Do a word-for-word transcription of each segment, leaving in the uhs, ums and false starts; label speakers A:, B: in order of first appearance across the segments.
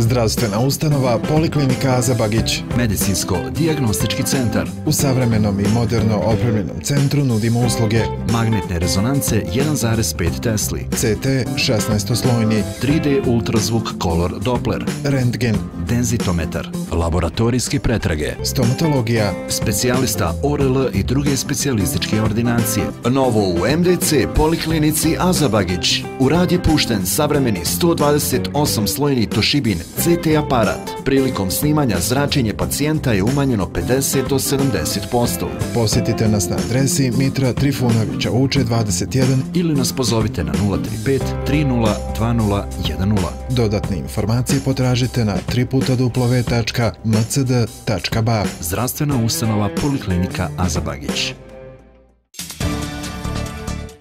A: Zdravstvena ustanova Poliklinika Aza Bagić.
B: Medicinsko-dijagnostički centar.
A: U savremenom i moderno opremljenom centru nudimo usluge
B: magnetne rezonance jedan zarez pet Tesli,
A: C T šesnaestoslojni,
B: tri D ultrazvuk Color Doppler,
A: rentgen,
B: denzitometar, laboratorijske pretrage,
A: stomatologija,
B: specijalista O R L i druge specijalističke ordinacije. Novo u M D C Poliklinici Aza Bagić. U rad je pušten savremeni sto dvadeset osam slojni Toshibin C T aparat. Prilikom snimanja zračenje pacijenta je umanjeno pedeset do sedamdeset posto.
A: Posjetite nas na adresi Mitra Trifunovića Vuče dvadeset jedan
B: ili nas pozovite na nula tri pet tri nula dva nula jedan nula.
A: Dodatne informacije potražite na tri puta w tačka m c d tačka b a.
B: Zdravstvena ustanova Poliklinika Aza Bagić.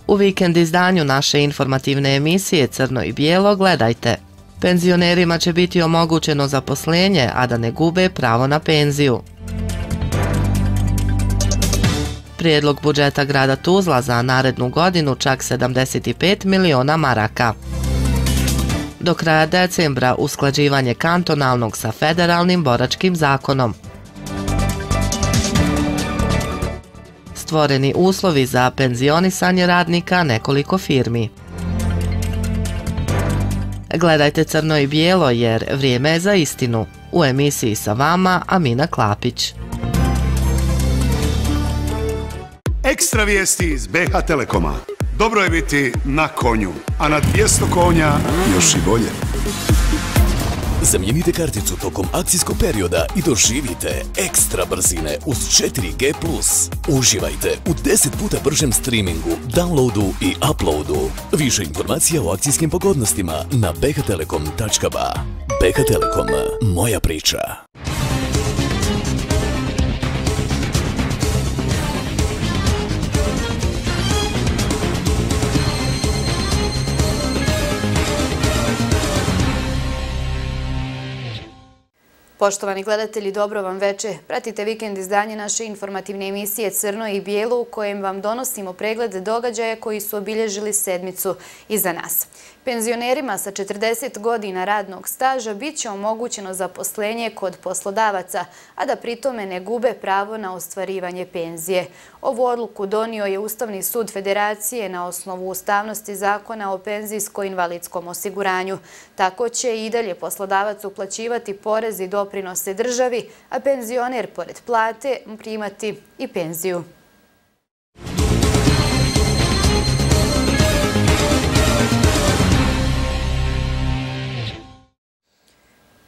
C: U vikend izdanju naše informativne emisije Crno i bijelo gledajte. Penzionerima će biti omogućeno zaposlenje, a da ne gube pravo na penziju. Prijedlog budžeta grada Tuzla za narednu godinu čak sedamdeset pet miliona maraka. Do kraja decembra usklađivanje kantonalnog sa federalnim boračkim zakonom. Stvoreni uslovi za penzionisanje radnika nekoliko firmi. Gledajte Crno i bijelo jer vrijeme je za istinu. U emisiji sa vama Amina Klapić.
D: Ekstra vijesti iz B H Telekoma. Dobro je biti na konju, a na dvjesto konja još i bolje.
E: Zamijenite karticu tokom akcijskog perioda i doživite ekstra brzine uz četiri G plus. Uživajte u deset puta bržem streamingu, downloadu i uploadu. Više informacija o akcijskim pogodnostima na b h telekom tačka b a. B H Telekom, moja priča.
F: Poštovani gledatelji, dobro vam veče. Pratite vikend izdanje naše informativne emisije Crno i bijelo u kojem vam donosimo pregled događaja koji su obilježili sedmicu iza nas. Penzionerima sa četrdeset godina radnog staža bit će omogućeno zaposlenje kod poslodavaca, a da pritome ne gube pravo na ostvarivanje penzije. Ovu odluku donio je Ustavni sud Federacije na osnovu ustavnosti zakona o penzijsko-invalidskom osiguranju. Tako će i dalje poslodavac uplaćivati porez i doprinose državi, a penzioner pored plate primati i penziju.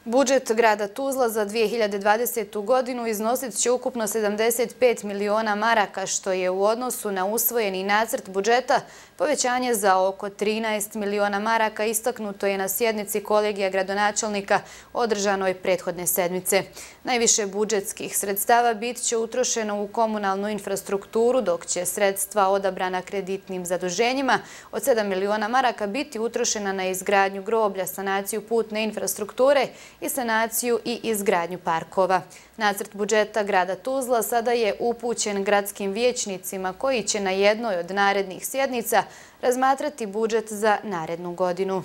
F: Budžet grada Tuzla za dvije hiljade dvadesetu. godinu iznosit će ukupno sedamdeset pet miliona maraka, što je u odnosu na usvojeni nacrt budžeta povećanje za oko trinaest miliona maraka, istaknuto je na sjednici kolegija gradonačelnika održanoj prethodne sedmice. Najviše budžetskih sredstava bit će utrošeno u komunalnu infrastrukturu, dok će sredstva odabrana kreditnim zaduženjima od sedam miliona maraka biti utrošena na izgradnju groblja, sanaciju putne infrastrukture i sanaciju i izgradnju parkova. Nacrt budžeta grada Tuzla sada je upućen gradskim vijećnicima koji će na jednoj od narednih sjednica razmatrati budžet za narednu godinu.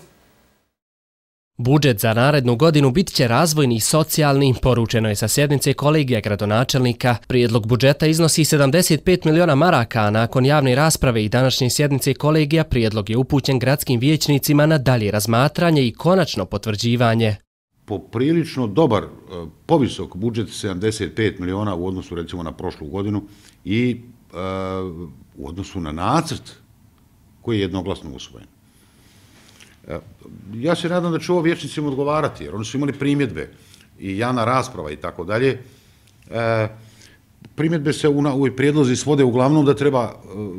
G: Budžet za narednu godinu bit će razvojni i socijalni, poručeno je sa sjednice kolegija gradonačelnika. Prijedlog budžeta iznosi sedamdeset pet miliona maraka, a nakon javne rasprave i današnje sjednice kolegija prijedlog je upućen gradskim vijećnicima na dalje razmatranje i konačno potvrđivanje.
H: Poprilično dobar, povisok budžet sedamdeset pet miliona u odnosu recimo na prošlu godinu i e, u odnosu na nacrt koji je jednoglasno usvojen. E, ja se nadam da će ovo vijećnicima odgovarati, jer oni su imali primjedbe i javna rasprava i tako dalje. E, primjedbe se u, u prijedlozi svode uglavnom da treba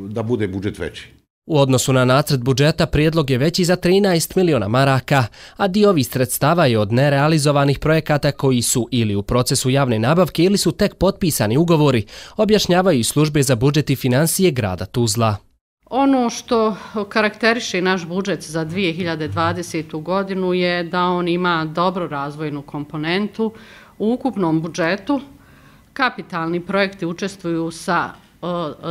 H: da bude budžet veći.
G: U odnosu na nacrt budžeta prijedlog je veći za trinaest miliona maraka, a dio ovih sredstava je od nerealizovanih projekata koji su ili u procesu javne nabavke ili su tek potpisani ugovori, objašnjavaju i službe za budžet i financije grada Tuzla.
I: Ono što karakteriše naš budžet za dvije hiljade dvadesetu. godinu je da on ima dobru razvojnu komponentu. U ukupnom budžetu kapitalni projekti učestvuju sa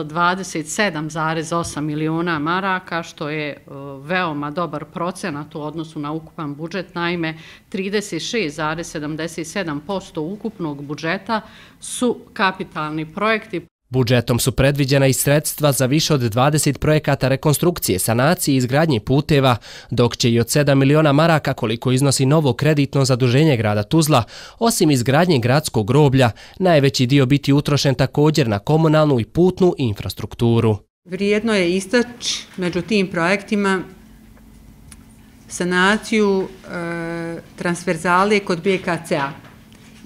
I: dvadeset sedam zarez osam miliona maraka, što je veoma dobar procenat u odnosu na ukupan budžet. Naime, trideset šest zarez sedamdeset sedam posto ukupnog budžeta su kapitalni projekti.
G: Budžetom su predviđena i sredstva za više od dvadeset projekata rekonstrukcije, sanacije i izgradnje puteva, dok će i od sedam miliona maraka, koliko iznosi novo kreditno zaduženje grada Tuzla, osim izgradnje gradskog groblja, najveći dio biti utrošen također na komunalnu i putnu infrastrukturu.
J: Vrijedno je istaći među tim projektima sanaciju e, transverzale kod B K C-a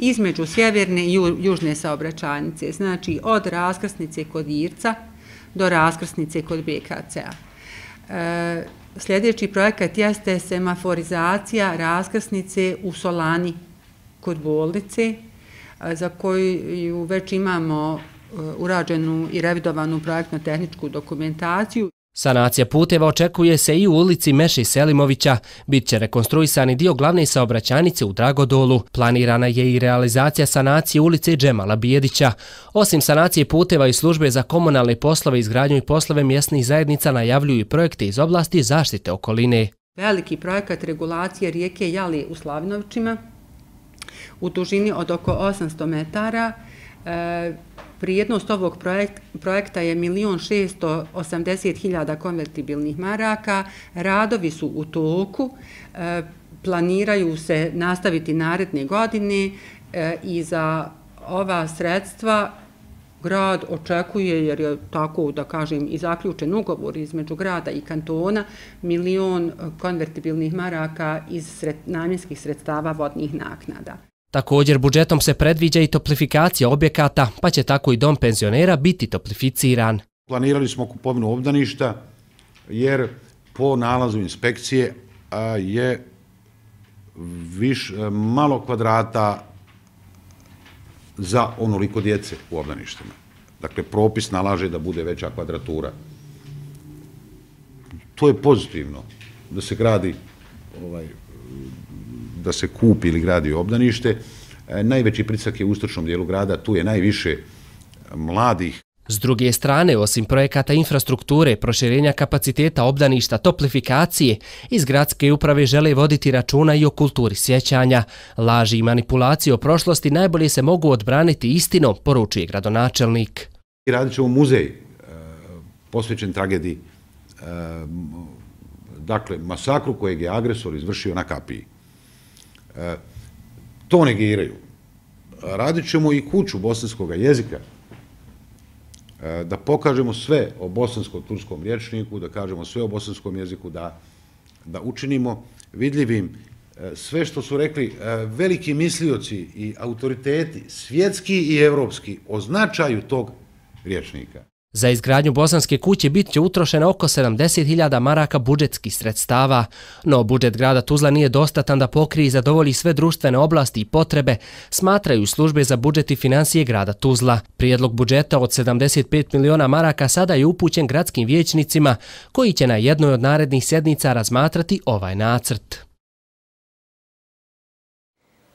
J: između sjeverne i južne saobraćajnice, znači od raskrsnice kod Irca do raskrsnice kod B K C-a. E, sljedeći projekat jeste semaforizacija raskrsnice u Solani kod bolnice, za koju već imamo urađenu i revidovanu projektno-tehničku dokumentaciju.
G: Sanacija puteva očekuje se i u ulici Meše Selimovića. Bit će rekonstruisani dio glavne saobraćajnice u Dragodolu. Planirana je i realizacija sanacije ulice Džemala Bijedića. Osim sanacije puteva i službe za komunalne poslove, izgradnju i poslove mjesnih zajednica najavljuju i projekte iz oblasti zaštite okoline.
J: Veliki projekat regulacije rijeke Jali u Slavinovićima u dužini od oko osamsto metara. E, Prijednost ovog projekta je milion šesto osamdeset hiljada konvertibilnih maraka. Radovi su u toku, planiraju se nastaviti naredne godine i za ova sredstva grad očekuje, jer je tako da kažem i zaključen ugovor između grada i kantona, milion konvertibilnih maraka iz namjenskih sredstava vodnih naknada.
G: Također budžetom se predviđa i toplifikacija objekata, pa će tako i dom penzionera biti toplificiran.
H: Planirali smo kupovinu obdaništa jer po nalazu inspekcije je viš, malo kvadrata za onoliko djece u obdaništima. Dakle, propis nalaže da bude veća kvadratura. To je pozitivno da se gradi ovaj, da se kupi ili gradi obdanište. Najveći pritisak je u istočnom dijelu grada, tu je najviše mladih.
G: S druge strane, osim projekata infrastrukture, proširenja kapaciteta obdaništa, toplifikacije, iz gradske uprave žele voditi računa i o kulturi sjećanja. Laži i manipulacije o prošlosti najbolje se mogu odbraniti istinom, poručuje gradonačelnik.
H: Radit ćemo muzej posvećen tragediji, dakle masakru kojeg je agresor izvršio na Kapiji. To negiraju. Radit ćemo i kuću bosanskog jezika, da pokažemo sve o bosansko-turskom rječniku, da kažemo sve o bosanskom jeziku, da, da učinimo vidljivim sve što su rekli veliki mislioci i autoriteti, svjetski i evropski, o značaju tog rječnika.
G: Za izgradnju bosanske kuće bit će utrošeno oko sedamdeset hiljada maraka budžetskih sredstava, no budžet grada Tuzla nije dostatan da pokrije i zadovolji sve društvene oblasti i potrebe, smatraju službe za budžet i financije grada Tuzla. Prijedlog budžeta od sedamdeset pet miliona maraka sada je upućen gradskim vijećnicima, koji će na jednoj od narednih sjednica razmatrati ovaj nacrt.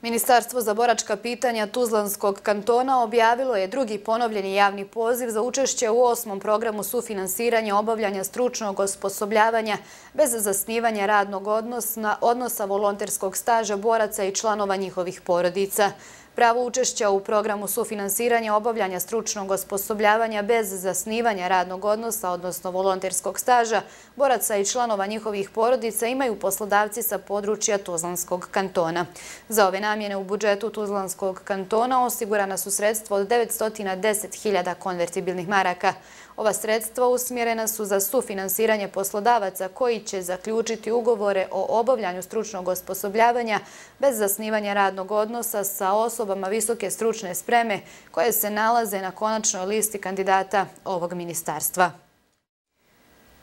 F: Ministarstvo za boračka pitanja Tuzlanskog kantona objavilo je drugi ponovljeni javni poziv za učešće u osmom programu sufinansiranja obavljanja stručnog osposobljavanja bez zasnivanja radnog odnosa, odnosa volonterskog staža boraca i članova njihovih porodica. Pravo učešća u programu sufinansiranja obavljanja stručnog osposobljavanja bez zasnivanja radnog odnosa, odnosno volonterskog staža, boraca i članova njihovih porodica imaju poslodavci sa područja Tuzlanskog kantona. Za ove namjene u budžetu Tuzlanskog kantona osigurana su sredstva od devetsto deset hiljada konvertibilnih maraka. Ova sredstva usmjerena su za sufinansiranje poslodavaca koji će zaključiti ugovore o obavljanju stručnog osposobljavanja bez zasnivanja radnog odnosa sa osobama visoke stručne spreme koje se nalaze na konačnoj listi kandidata ovog ministarstva.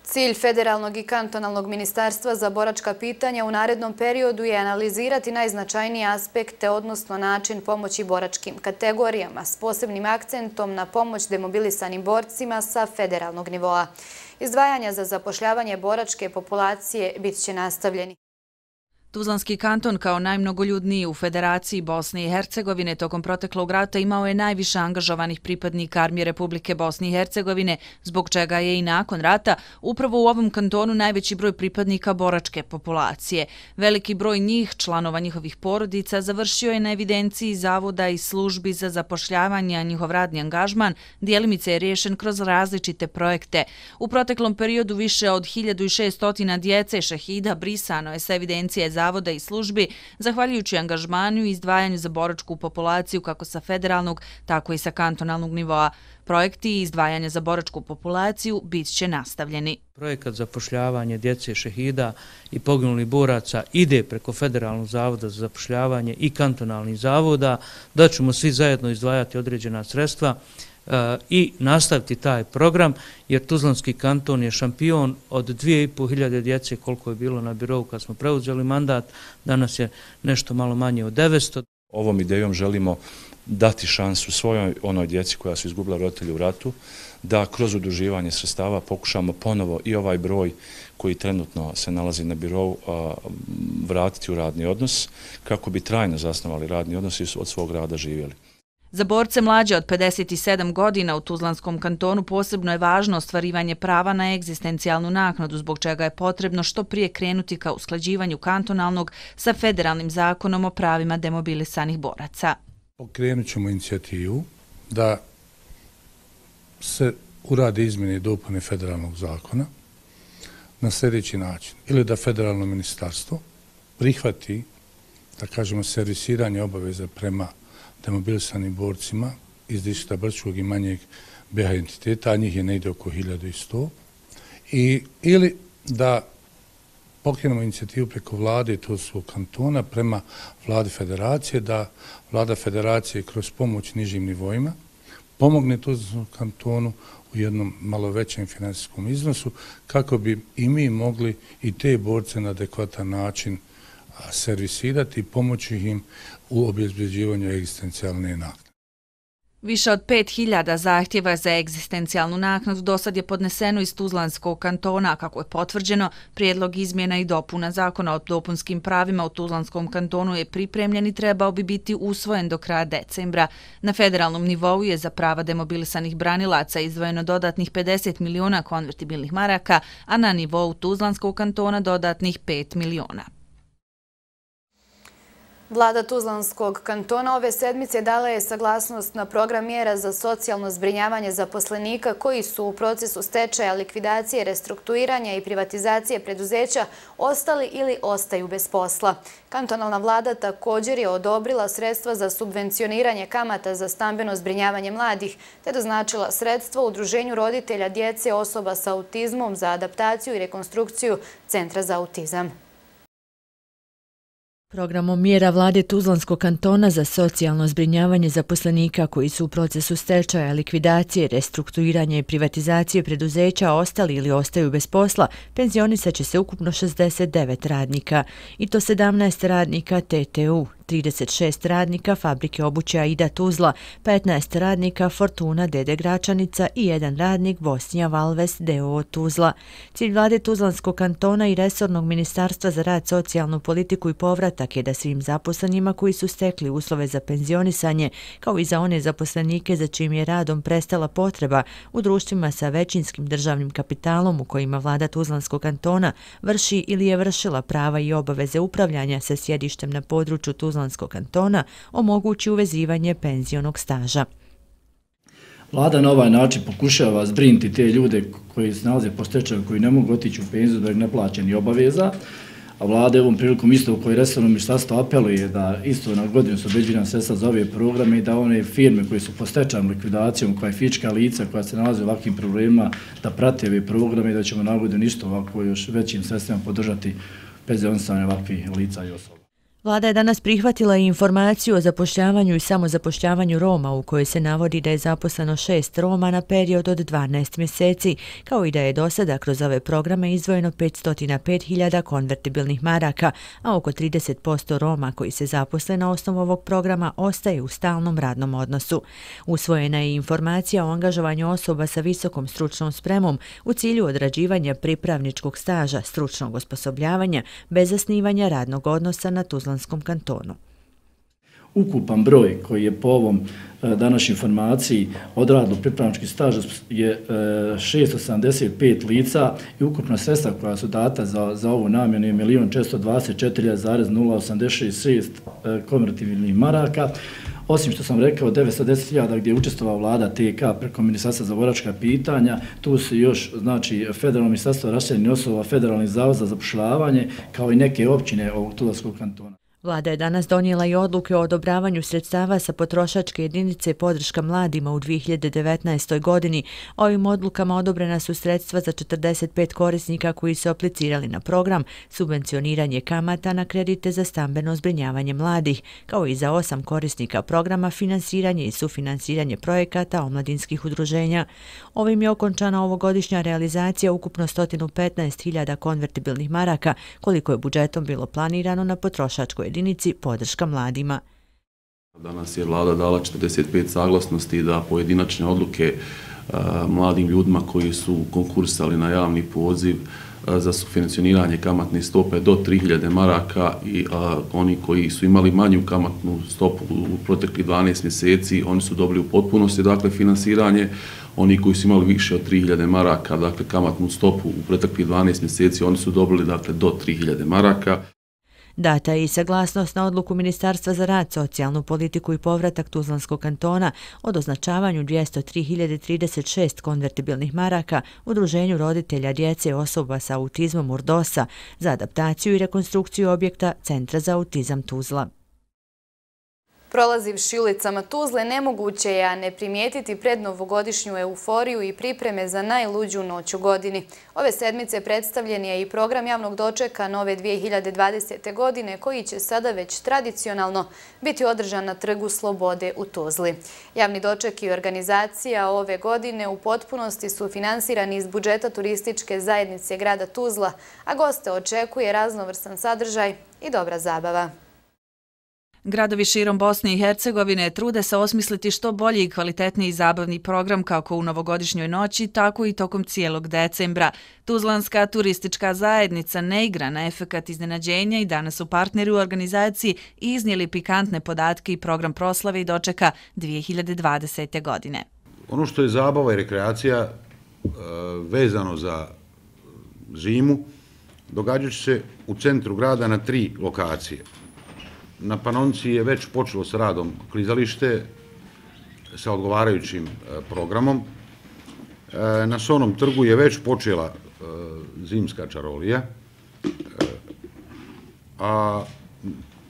F: Cilj Federalnog i kantonalnog ministarstva za boračka pitanja u narednom periodu je analizirati najznačajnije aspekte, odnosno način pomoći boračkim kategorijama s posebnim akcentom na pomoć demobilisanim borcima sa federalnog nivoa. Izdvajanja za zapošljavanje boračke populacije bit će nastavljeni.
K: Tuzlanski kanton kao najmnogoljudniji u Federaciji Bosne i Hercegovine tokom proteklog rata imao je najviše angažovanih pripadnika Armije Republike Bosne i Hercegovine, zbog čega je i nakon rata upravo u ovom kantonu najveći broj pripadnika boračke populacije. Veliki broj njih, članova njihovih porodica, završio je na evidenciji zavoda i službi za zapošljavanje, a njihov radni angažman dijelimice je riješen kroz različite projekte. U proteklom periodu više od hiljadu šessto djece šehida brisano je sa evidencije zavoda i službi, zahvaljujući angažmanu i izdvajanju za boračku populaciju kako sa federalnog, tako i sa kantonalnog nivoa. Projekti i izdvajanja za boračku populaciju bit će nastavljeni.
L: Projekat zapošljavanje djece šehida i poginulih boraca ide preko Federalnog zavoda za zapošljavanje i kantonalnih zavoda, da ćemo svi zajedno izdvajati određena sredstva i nastaviti taj program, jer Tuzlanski kanton je šampion od dvije i pol hiljade djece koliko je bilo na birovu kad smo preuzeli mandat, danas je nešto malo manje od devetsto.
M: Ovom idejom želimo dati šansu svojoj onoj djeci koja su izgubila roditelje u ratu, da kroz udruživanje sredstava pokušamo ponovo i ovaj broj koji trenutno se nalazi na birovu vratiti u radni odnos, kako bi trajno zasnovali radni odnos i od svog rada živjeli.
K: Za borce mlađe od pedeset sedam godina u Tuzlanskom kantonu posebno je važno ostvarivanje prava na egzistencijalnu naknadu, zbog čega je potrebno što prije krenuti ka usklađivanju kantonalnog sa federalnim zakonom o pravima demobilisanih boraca.
N: Pokrenut ćemo inicijativu da se urade izmjene i dopune federalnog zakona na sljedeći način. Ili da federalno ministarstvo prihvati, da kažemo, servisiranje obaveza prema demobilisanim borcima iz distrikta Brčkog i manjeg B H entiteta, a njih je negdje oko hiljadu sto, i ili da pokrenemo inicijativu preko vlade Tuzlanskog kantona prema vladi federacije, da vlada federacije kroz pomoć nižim nivoima pomogne Tuzlanskom kantonu u jednom malo većem financijskom iznosu, kako bi i mi mogli i te borce na adekvatan način servisirati i pomoći im u obezbeđivanju egzistencijalne naknade.
K: Više od pet hiljada zahtjeva za egzistencijalnu naknadu dosad je podneseno iz Tuzlanskog kantona, kako je potvrđeno. Prijedlog izmjena i dopuna zakona o dopunskim pravima u Tuzlanskom kantonu je pripremljen i trebao bi biti usvojen do kraja decembra. Na federalnom nivou je za prava demobilisanih branilaca izdvojeno dodatnih pedeset miliona konvertibilnih maraka, a na nivou Tuzlanskog kantona dodatnih pet miliona.
F: Vlada Tuzlanskog kantona ove sedmice dala je saglasnost na program mjera za socijalno zbrinjavanje zaposlenika koji su u procesu stečaja, likvidacije, restrukturiranja i privatizacije preduzeća ostali ili ostaju bez posla. Kantonalna vlada također je odobrila sredstva za subvencioniranje kamata za stambeno zbrinjavanje mladih, te doznačila sredstva u Udruženju roditelja djece osoba sa autizmom za adaptaciju i rekonstrukciju Centra za autizam.
O: Programom mjera vlade Tuzlanskog kantona za socijalno zbrinjavanje zaposlenika koji su u procesu stečaja, likvidacije, restrukturiranja i privatizacije preduzeća ostali ili ostaju bez posla, penzionisat će se ukupno šezdeset devet radnika, i to sedamnaest radnika T T U, trideset šest radnika Fabrike obuće Aida Tuzla, petnaest radnika Fortuna D D Gračanica i jedan radnik Bosnija Valves D O O Tuzla. Cilj vlade Tuzlanskog kantona i resornog ministarstva za rad, socijalnu politiku i povratak je da svim zaposlenima koji su stekli uslove za penzionisanje, kao i za one zaposlenike za čim je radom prestala potreba u društvima sa većinskim državnim kapitalom u kojima vlada Tuzlanskog kantona vrši ili je vršila prava i obaveze upravljanja sa sjedištem na području Tuzlanskog kantona, omogući uvezivanje penzionog staža.
P: Vlada na ovaj način pokušava zbrinuti te ljude koji se nalaze po stečaju, koji ne mogu otići u penziju zbog neplaćenih obaveza, a vlada ovom prilikom isto u kojoj resorno ministarstvo apeluje da isto na godinu su obezbeđena sredstva za ove programe i da one firme koje su po stečajnom likvidacijom, koja je fizička lica koja se nalaze u ovakvim problemima, da prate ove programe i da ćemo na godinu isto ovako još većim sredstvima podržati penzionisanje ovakvih lica i osoba.
O: Vlada je danas prihvatila i informaciju o zapošljavanju i samozapošljavanju Roma u kojoj se navodi da je zaposleno šest Roma na period od dvanaest mjeseci, kao i da je do sada kroz ove programe izdvojeno petsto pet hiljada konvertibilnih maraka, a oko trideset posto Roma koji se zaposle na osnovu ovog programa ostaje u stalnom radnom odnosu. Usvojena je informacija o angažovanju osoba sa visokom stručnom spremom u cilju odrađivanja pripravničkog staža, stručnog osposobljavanja bez zasnivanja radnog odnosa na Tuzlanskom kantonu.
P: Ukupan broj koji je po ovom današnjoj informaciji odradilo pripravnički staž je šesto sedamdeset pet lica i ukupna sredstva koja su data za, za ovu namjenu je milion četiristo dvadeset četiri zarez nula osamdeset šest konvertibilnih maraka. Osim što sam rekao devetsto deset hiljada gdje je učestvovala vlada T K preko Ministarstva za boračka pitanja, tu su još znači Federalno ministarstvo raseljenih osoba, Federalni zavod za zapošljavanje kao i neke općine ovog Tuzlanskog kantona.
O: Vlada je danas donijela i odluke o odobravanju sredstava sa potrošačke jedinice podrška mladima u dvije hiljade devetnaestoj godini. Ovim odlukama odobrena su sredstva za četrdeset pet korisnika koji su aplicirali na program subvencioniranje kamata na kredite za stambeno zbrinjavanje mladih, kao i za osam korisnika programa finansiranje i sufinansiranje projekata omladinskih udruženja. Ovim je okončana ovogodišnja realizacija ukupno sto petnaest hiljada konvertibilnih maraka, koliko je budžetom bilo planirano na potrošačkoj jedinici podrška mladima.
Q: Danas je vlada dala četrdeset pet saglasnosti da pojedinačne odluke a, mladim ljudima koji su konkursali na javni poziv a, za sufinansiranje kamatne stope do tri hiljade maraka i a, oni koji su imali manju kamatnu stopu u proteklih dvanaest mjeseci, oni su dobili u potpunosti dakle finansiranje. Oni koji su imali više od tri hiljade maraka, dakle kamatnu stopu u proteklih dvanaest mjeseci, oni su dobili dakle do tri hiljade maraka.
O: Data je i saglasnost na odluku Ministarstva za rad, socijalnu politiku i povratak Tuzlanskog kantona o doznačavanju dvjesto tri hiljade trideset šest konvertibilnih maraka Udruženju roditelja djece osoba sa autizmom Urdosa za adaptaciju i rekonstrukciju objekta Centra za autizam Tuzla.
F: Prolazivši ulicama Tuzle, nemoguće je a ne primijetiti prednovogodišnju euforiju i pripreme za najluđu noć u godini. Ove sedmice predstavljen je i program javnog dočeka nove dvije hiljade dvadesete. godine, koji će sada već tradicionalno biti održan na Trgu Slobode u Tuzli. Javni doček i organizacija ove godine u potpunosti su finansirani iz budžeta turističke zajednice grada Tuzla, a goste očekuje raznovrsan sadržaj i dobra zabava.
K: Gradovi širom Bosne i Hercegovine trude se osmisliti što bolji i kvalitetniji zabavni program kako u novogodišnjoj noći, tako i tokom cijelog decembra. Tuzlanska turistička zajednica ne igra na efekat iznenađenja i danas su partneri u organizaciji iznijeli pikantne podatke i program proslave i dočeka dvije hiljade dvadesete. godine.
H: Ono što je zabava i rekreacija vezano za zimu, događat će se u centru grada na tri lokacije. Na Panonci je već počelo s radom klizalište sa odgovarajućim programom. Na Sonom trgu je već počela zimska čarolija, a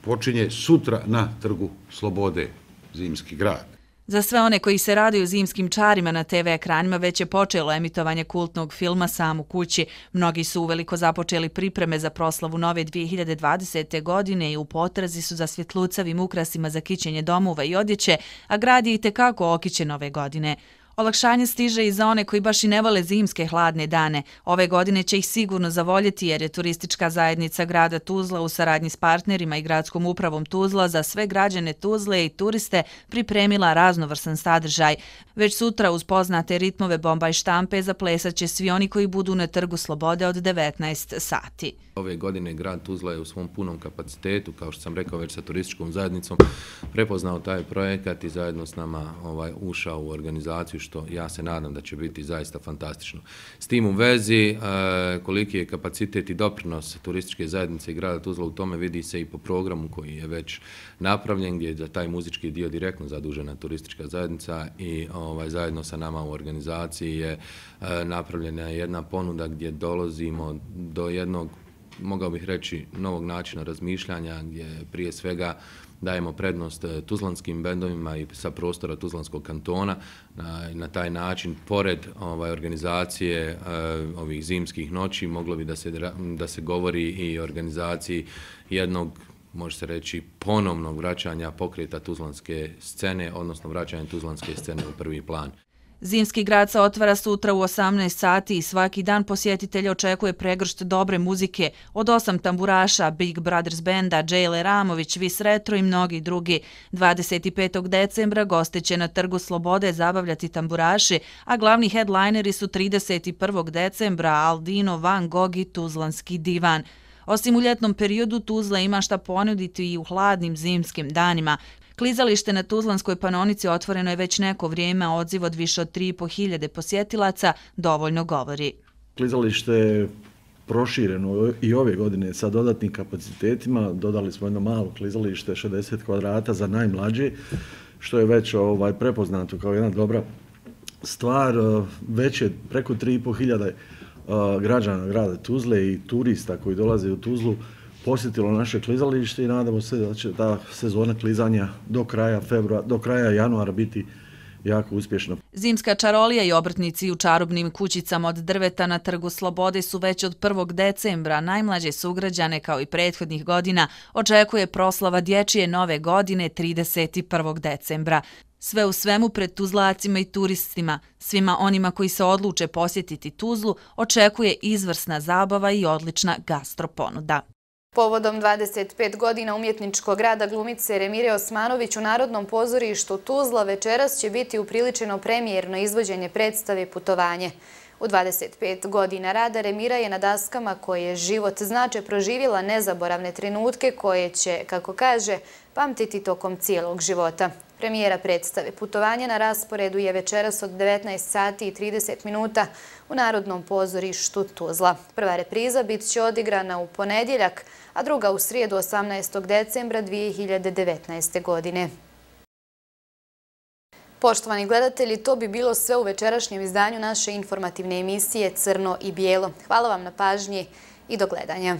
H: počinje sutra na Trgu Slobode zimski grad.
K: Za sve one koji se raduju zimskim čarima na te ve ekranima već je počelo emitovanje kultnog filma Sam u kući. Mnogi su uveliko započeli pripreme za proslavu nove dvije hiljade dvadesete. godine i u potrazi su za svjetlucavim ukrasima za kićenje domova i odjeće, a grad je i tekako okićen ove godine. Olakšanje stiže i za one koji baš i ne vole zimske hladne dane. Ove godine će ih sigurno zavoljeti jer je turistička zajednica grada Tuzla u saradnji s partnerima i gradskom upravom Tuzla za sve građane Tuzle i turiste pripremila raznovrsan sadržaj. Već sutra uz poznate ritmove bomba i štampe zaplesat će svi oni koji budu na Trgu Slobode od devetnaest sati.
R: Ove godine grad Tuzla je u svom punom kapacitetu, kao što sam rekao već sa turističkom zajednicom, prepoznao taj projekat i zajedno s nama ovaj, ušao u organizaciju, što ja se nadam da će biti zaista fantastično. S tim u vezi, e, koliki je kapacitet i doprinos turističke zajednice i grada Tuzla u tome vidi se i po programu koji je već napravljen, gdje je za taj muzički dio direktno zadužena turistička zajednica i ovaj, zajedno sa nama u organizaciji je e, napravljena jedna ponuda gdje dolazimo do jednog, mogao bih reći, novog načina razmišljanja gdje prije svega dajemo prednost tuzlanskim bendovima i sa prostora Tuzlanskog kantona. Na, na taj način, pored ovaj, organizacije uh, ovih zimskih noći, moglo bi da se, da se govori i o organizaciji jednog može se reći, ponovnog vraćanja pokreta tuzlanske scene, odnosno vraćanja tuzlanske scene u prvi plan.
K: Zimski grad se otvara sutra u osamnaest sati i svaki dan posjetitelja očekuje pregršt dobre muzike od osam tamburaša, Big Brothers Benda, Džejle Ramović, Vis Retro i mnogi drugi. dvadeset petog decembra goste će na Trgu Slobode zabavljati tamburaši, a glavni headlineri su trideset prvog decembra Aldino, Van Gogh i Tuzlanski divan. Osim u ljetnom periodu, Tuzla ima šta ponuditi i u hladnim zimskim danima. Klizalište na Tuzlanskoj panonici otvoreno je već neko vrijeme, a odziv od više od tri i po hiljade posjetilaca dovoljno govori.
S: Klizalište je prošireno i ove godine sa dodatnim kapacitetima. Dodali smo jedno malo klizalište, šezdeset kvadrata za najmlađe, što je već ovaj, prepoznato kao jedna dobra stvar. Već je preko tri i po hiljade građana grada Tuzle i turista koji dolaze u Tuzlu posjetilo naše klizalište i nadamo se da će ta sezona klizanja do kraja februara, do kraja januara biti jako uspješna.
K: Zimska čarolija i obrtnici u čarobnim kućicama od drveta na Trgu Slobode su već od prvog decembra. Najmlađe sugrađane, kao i prethodnih godina, očekuje proslava dječje nove godine trideset prvog decembra. Sve u svemu pred Tuzlacima i turistima, svima onima koji se odluče posjetiti Tuzlu, očekuje izvrsna zabava i odlična gastroponuda.
F: Povodom dvadeset pet godina umjetničkog rada glumice Remire Osmanović u Narodnom pozorištu Tuzla večeras će biti upriličeno premijerno izvođenje predstave Putovanje. U dvadeset pet godina rada Remira je na daskama koje život znače proživjela nezaboravne trenutke koje će, kako kaže, pamtiti tokom cijelog života. Premijera predstave Putovanje na rasporedu je večeras od devetnaest sati i trideset minuta u Narodnom pozorištu Tuzla. Prva repriza bit će odigrana u ponedjeljak, a druga u srijedu osamnaestog decembra dvije hiljade devetnaeste. godine. Poštovani gledatelji, to bi bilo sve u večerašnjem izdanju naše informativne emisije Crno i bijelo. Hvala vam na pažnji i do gledanja.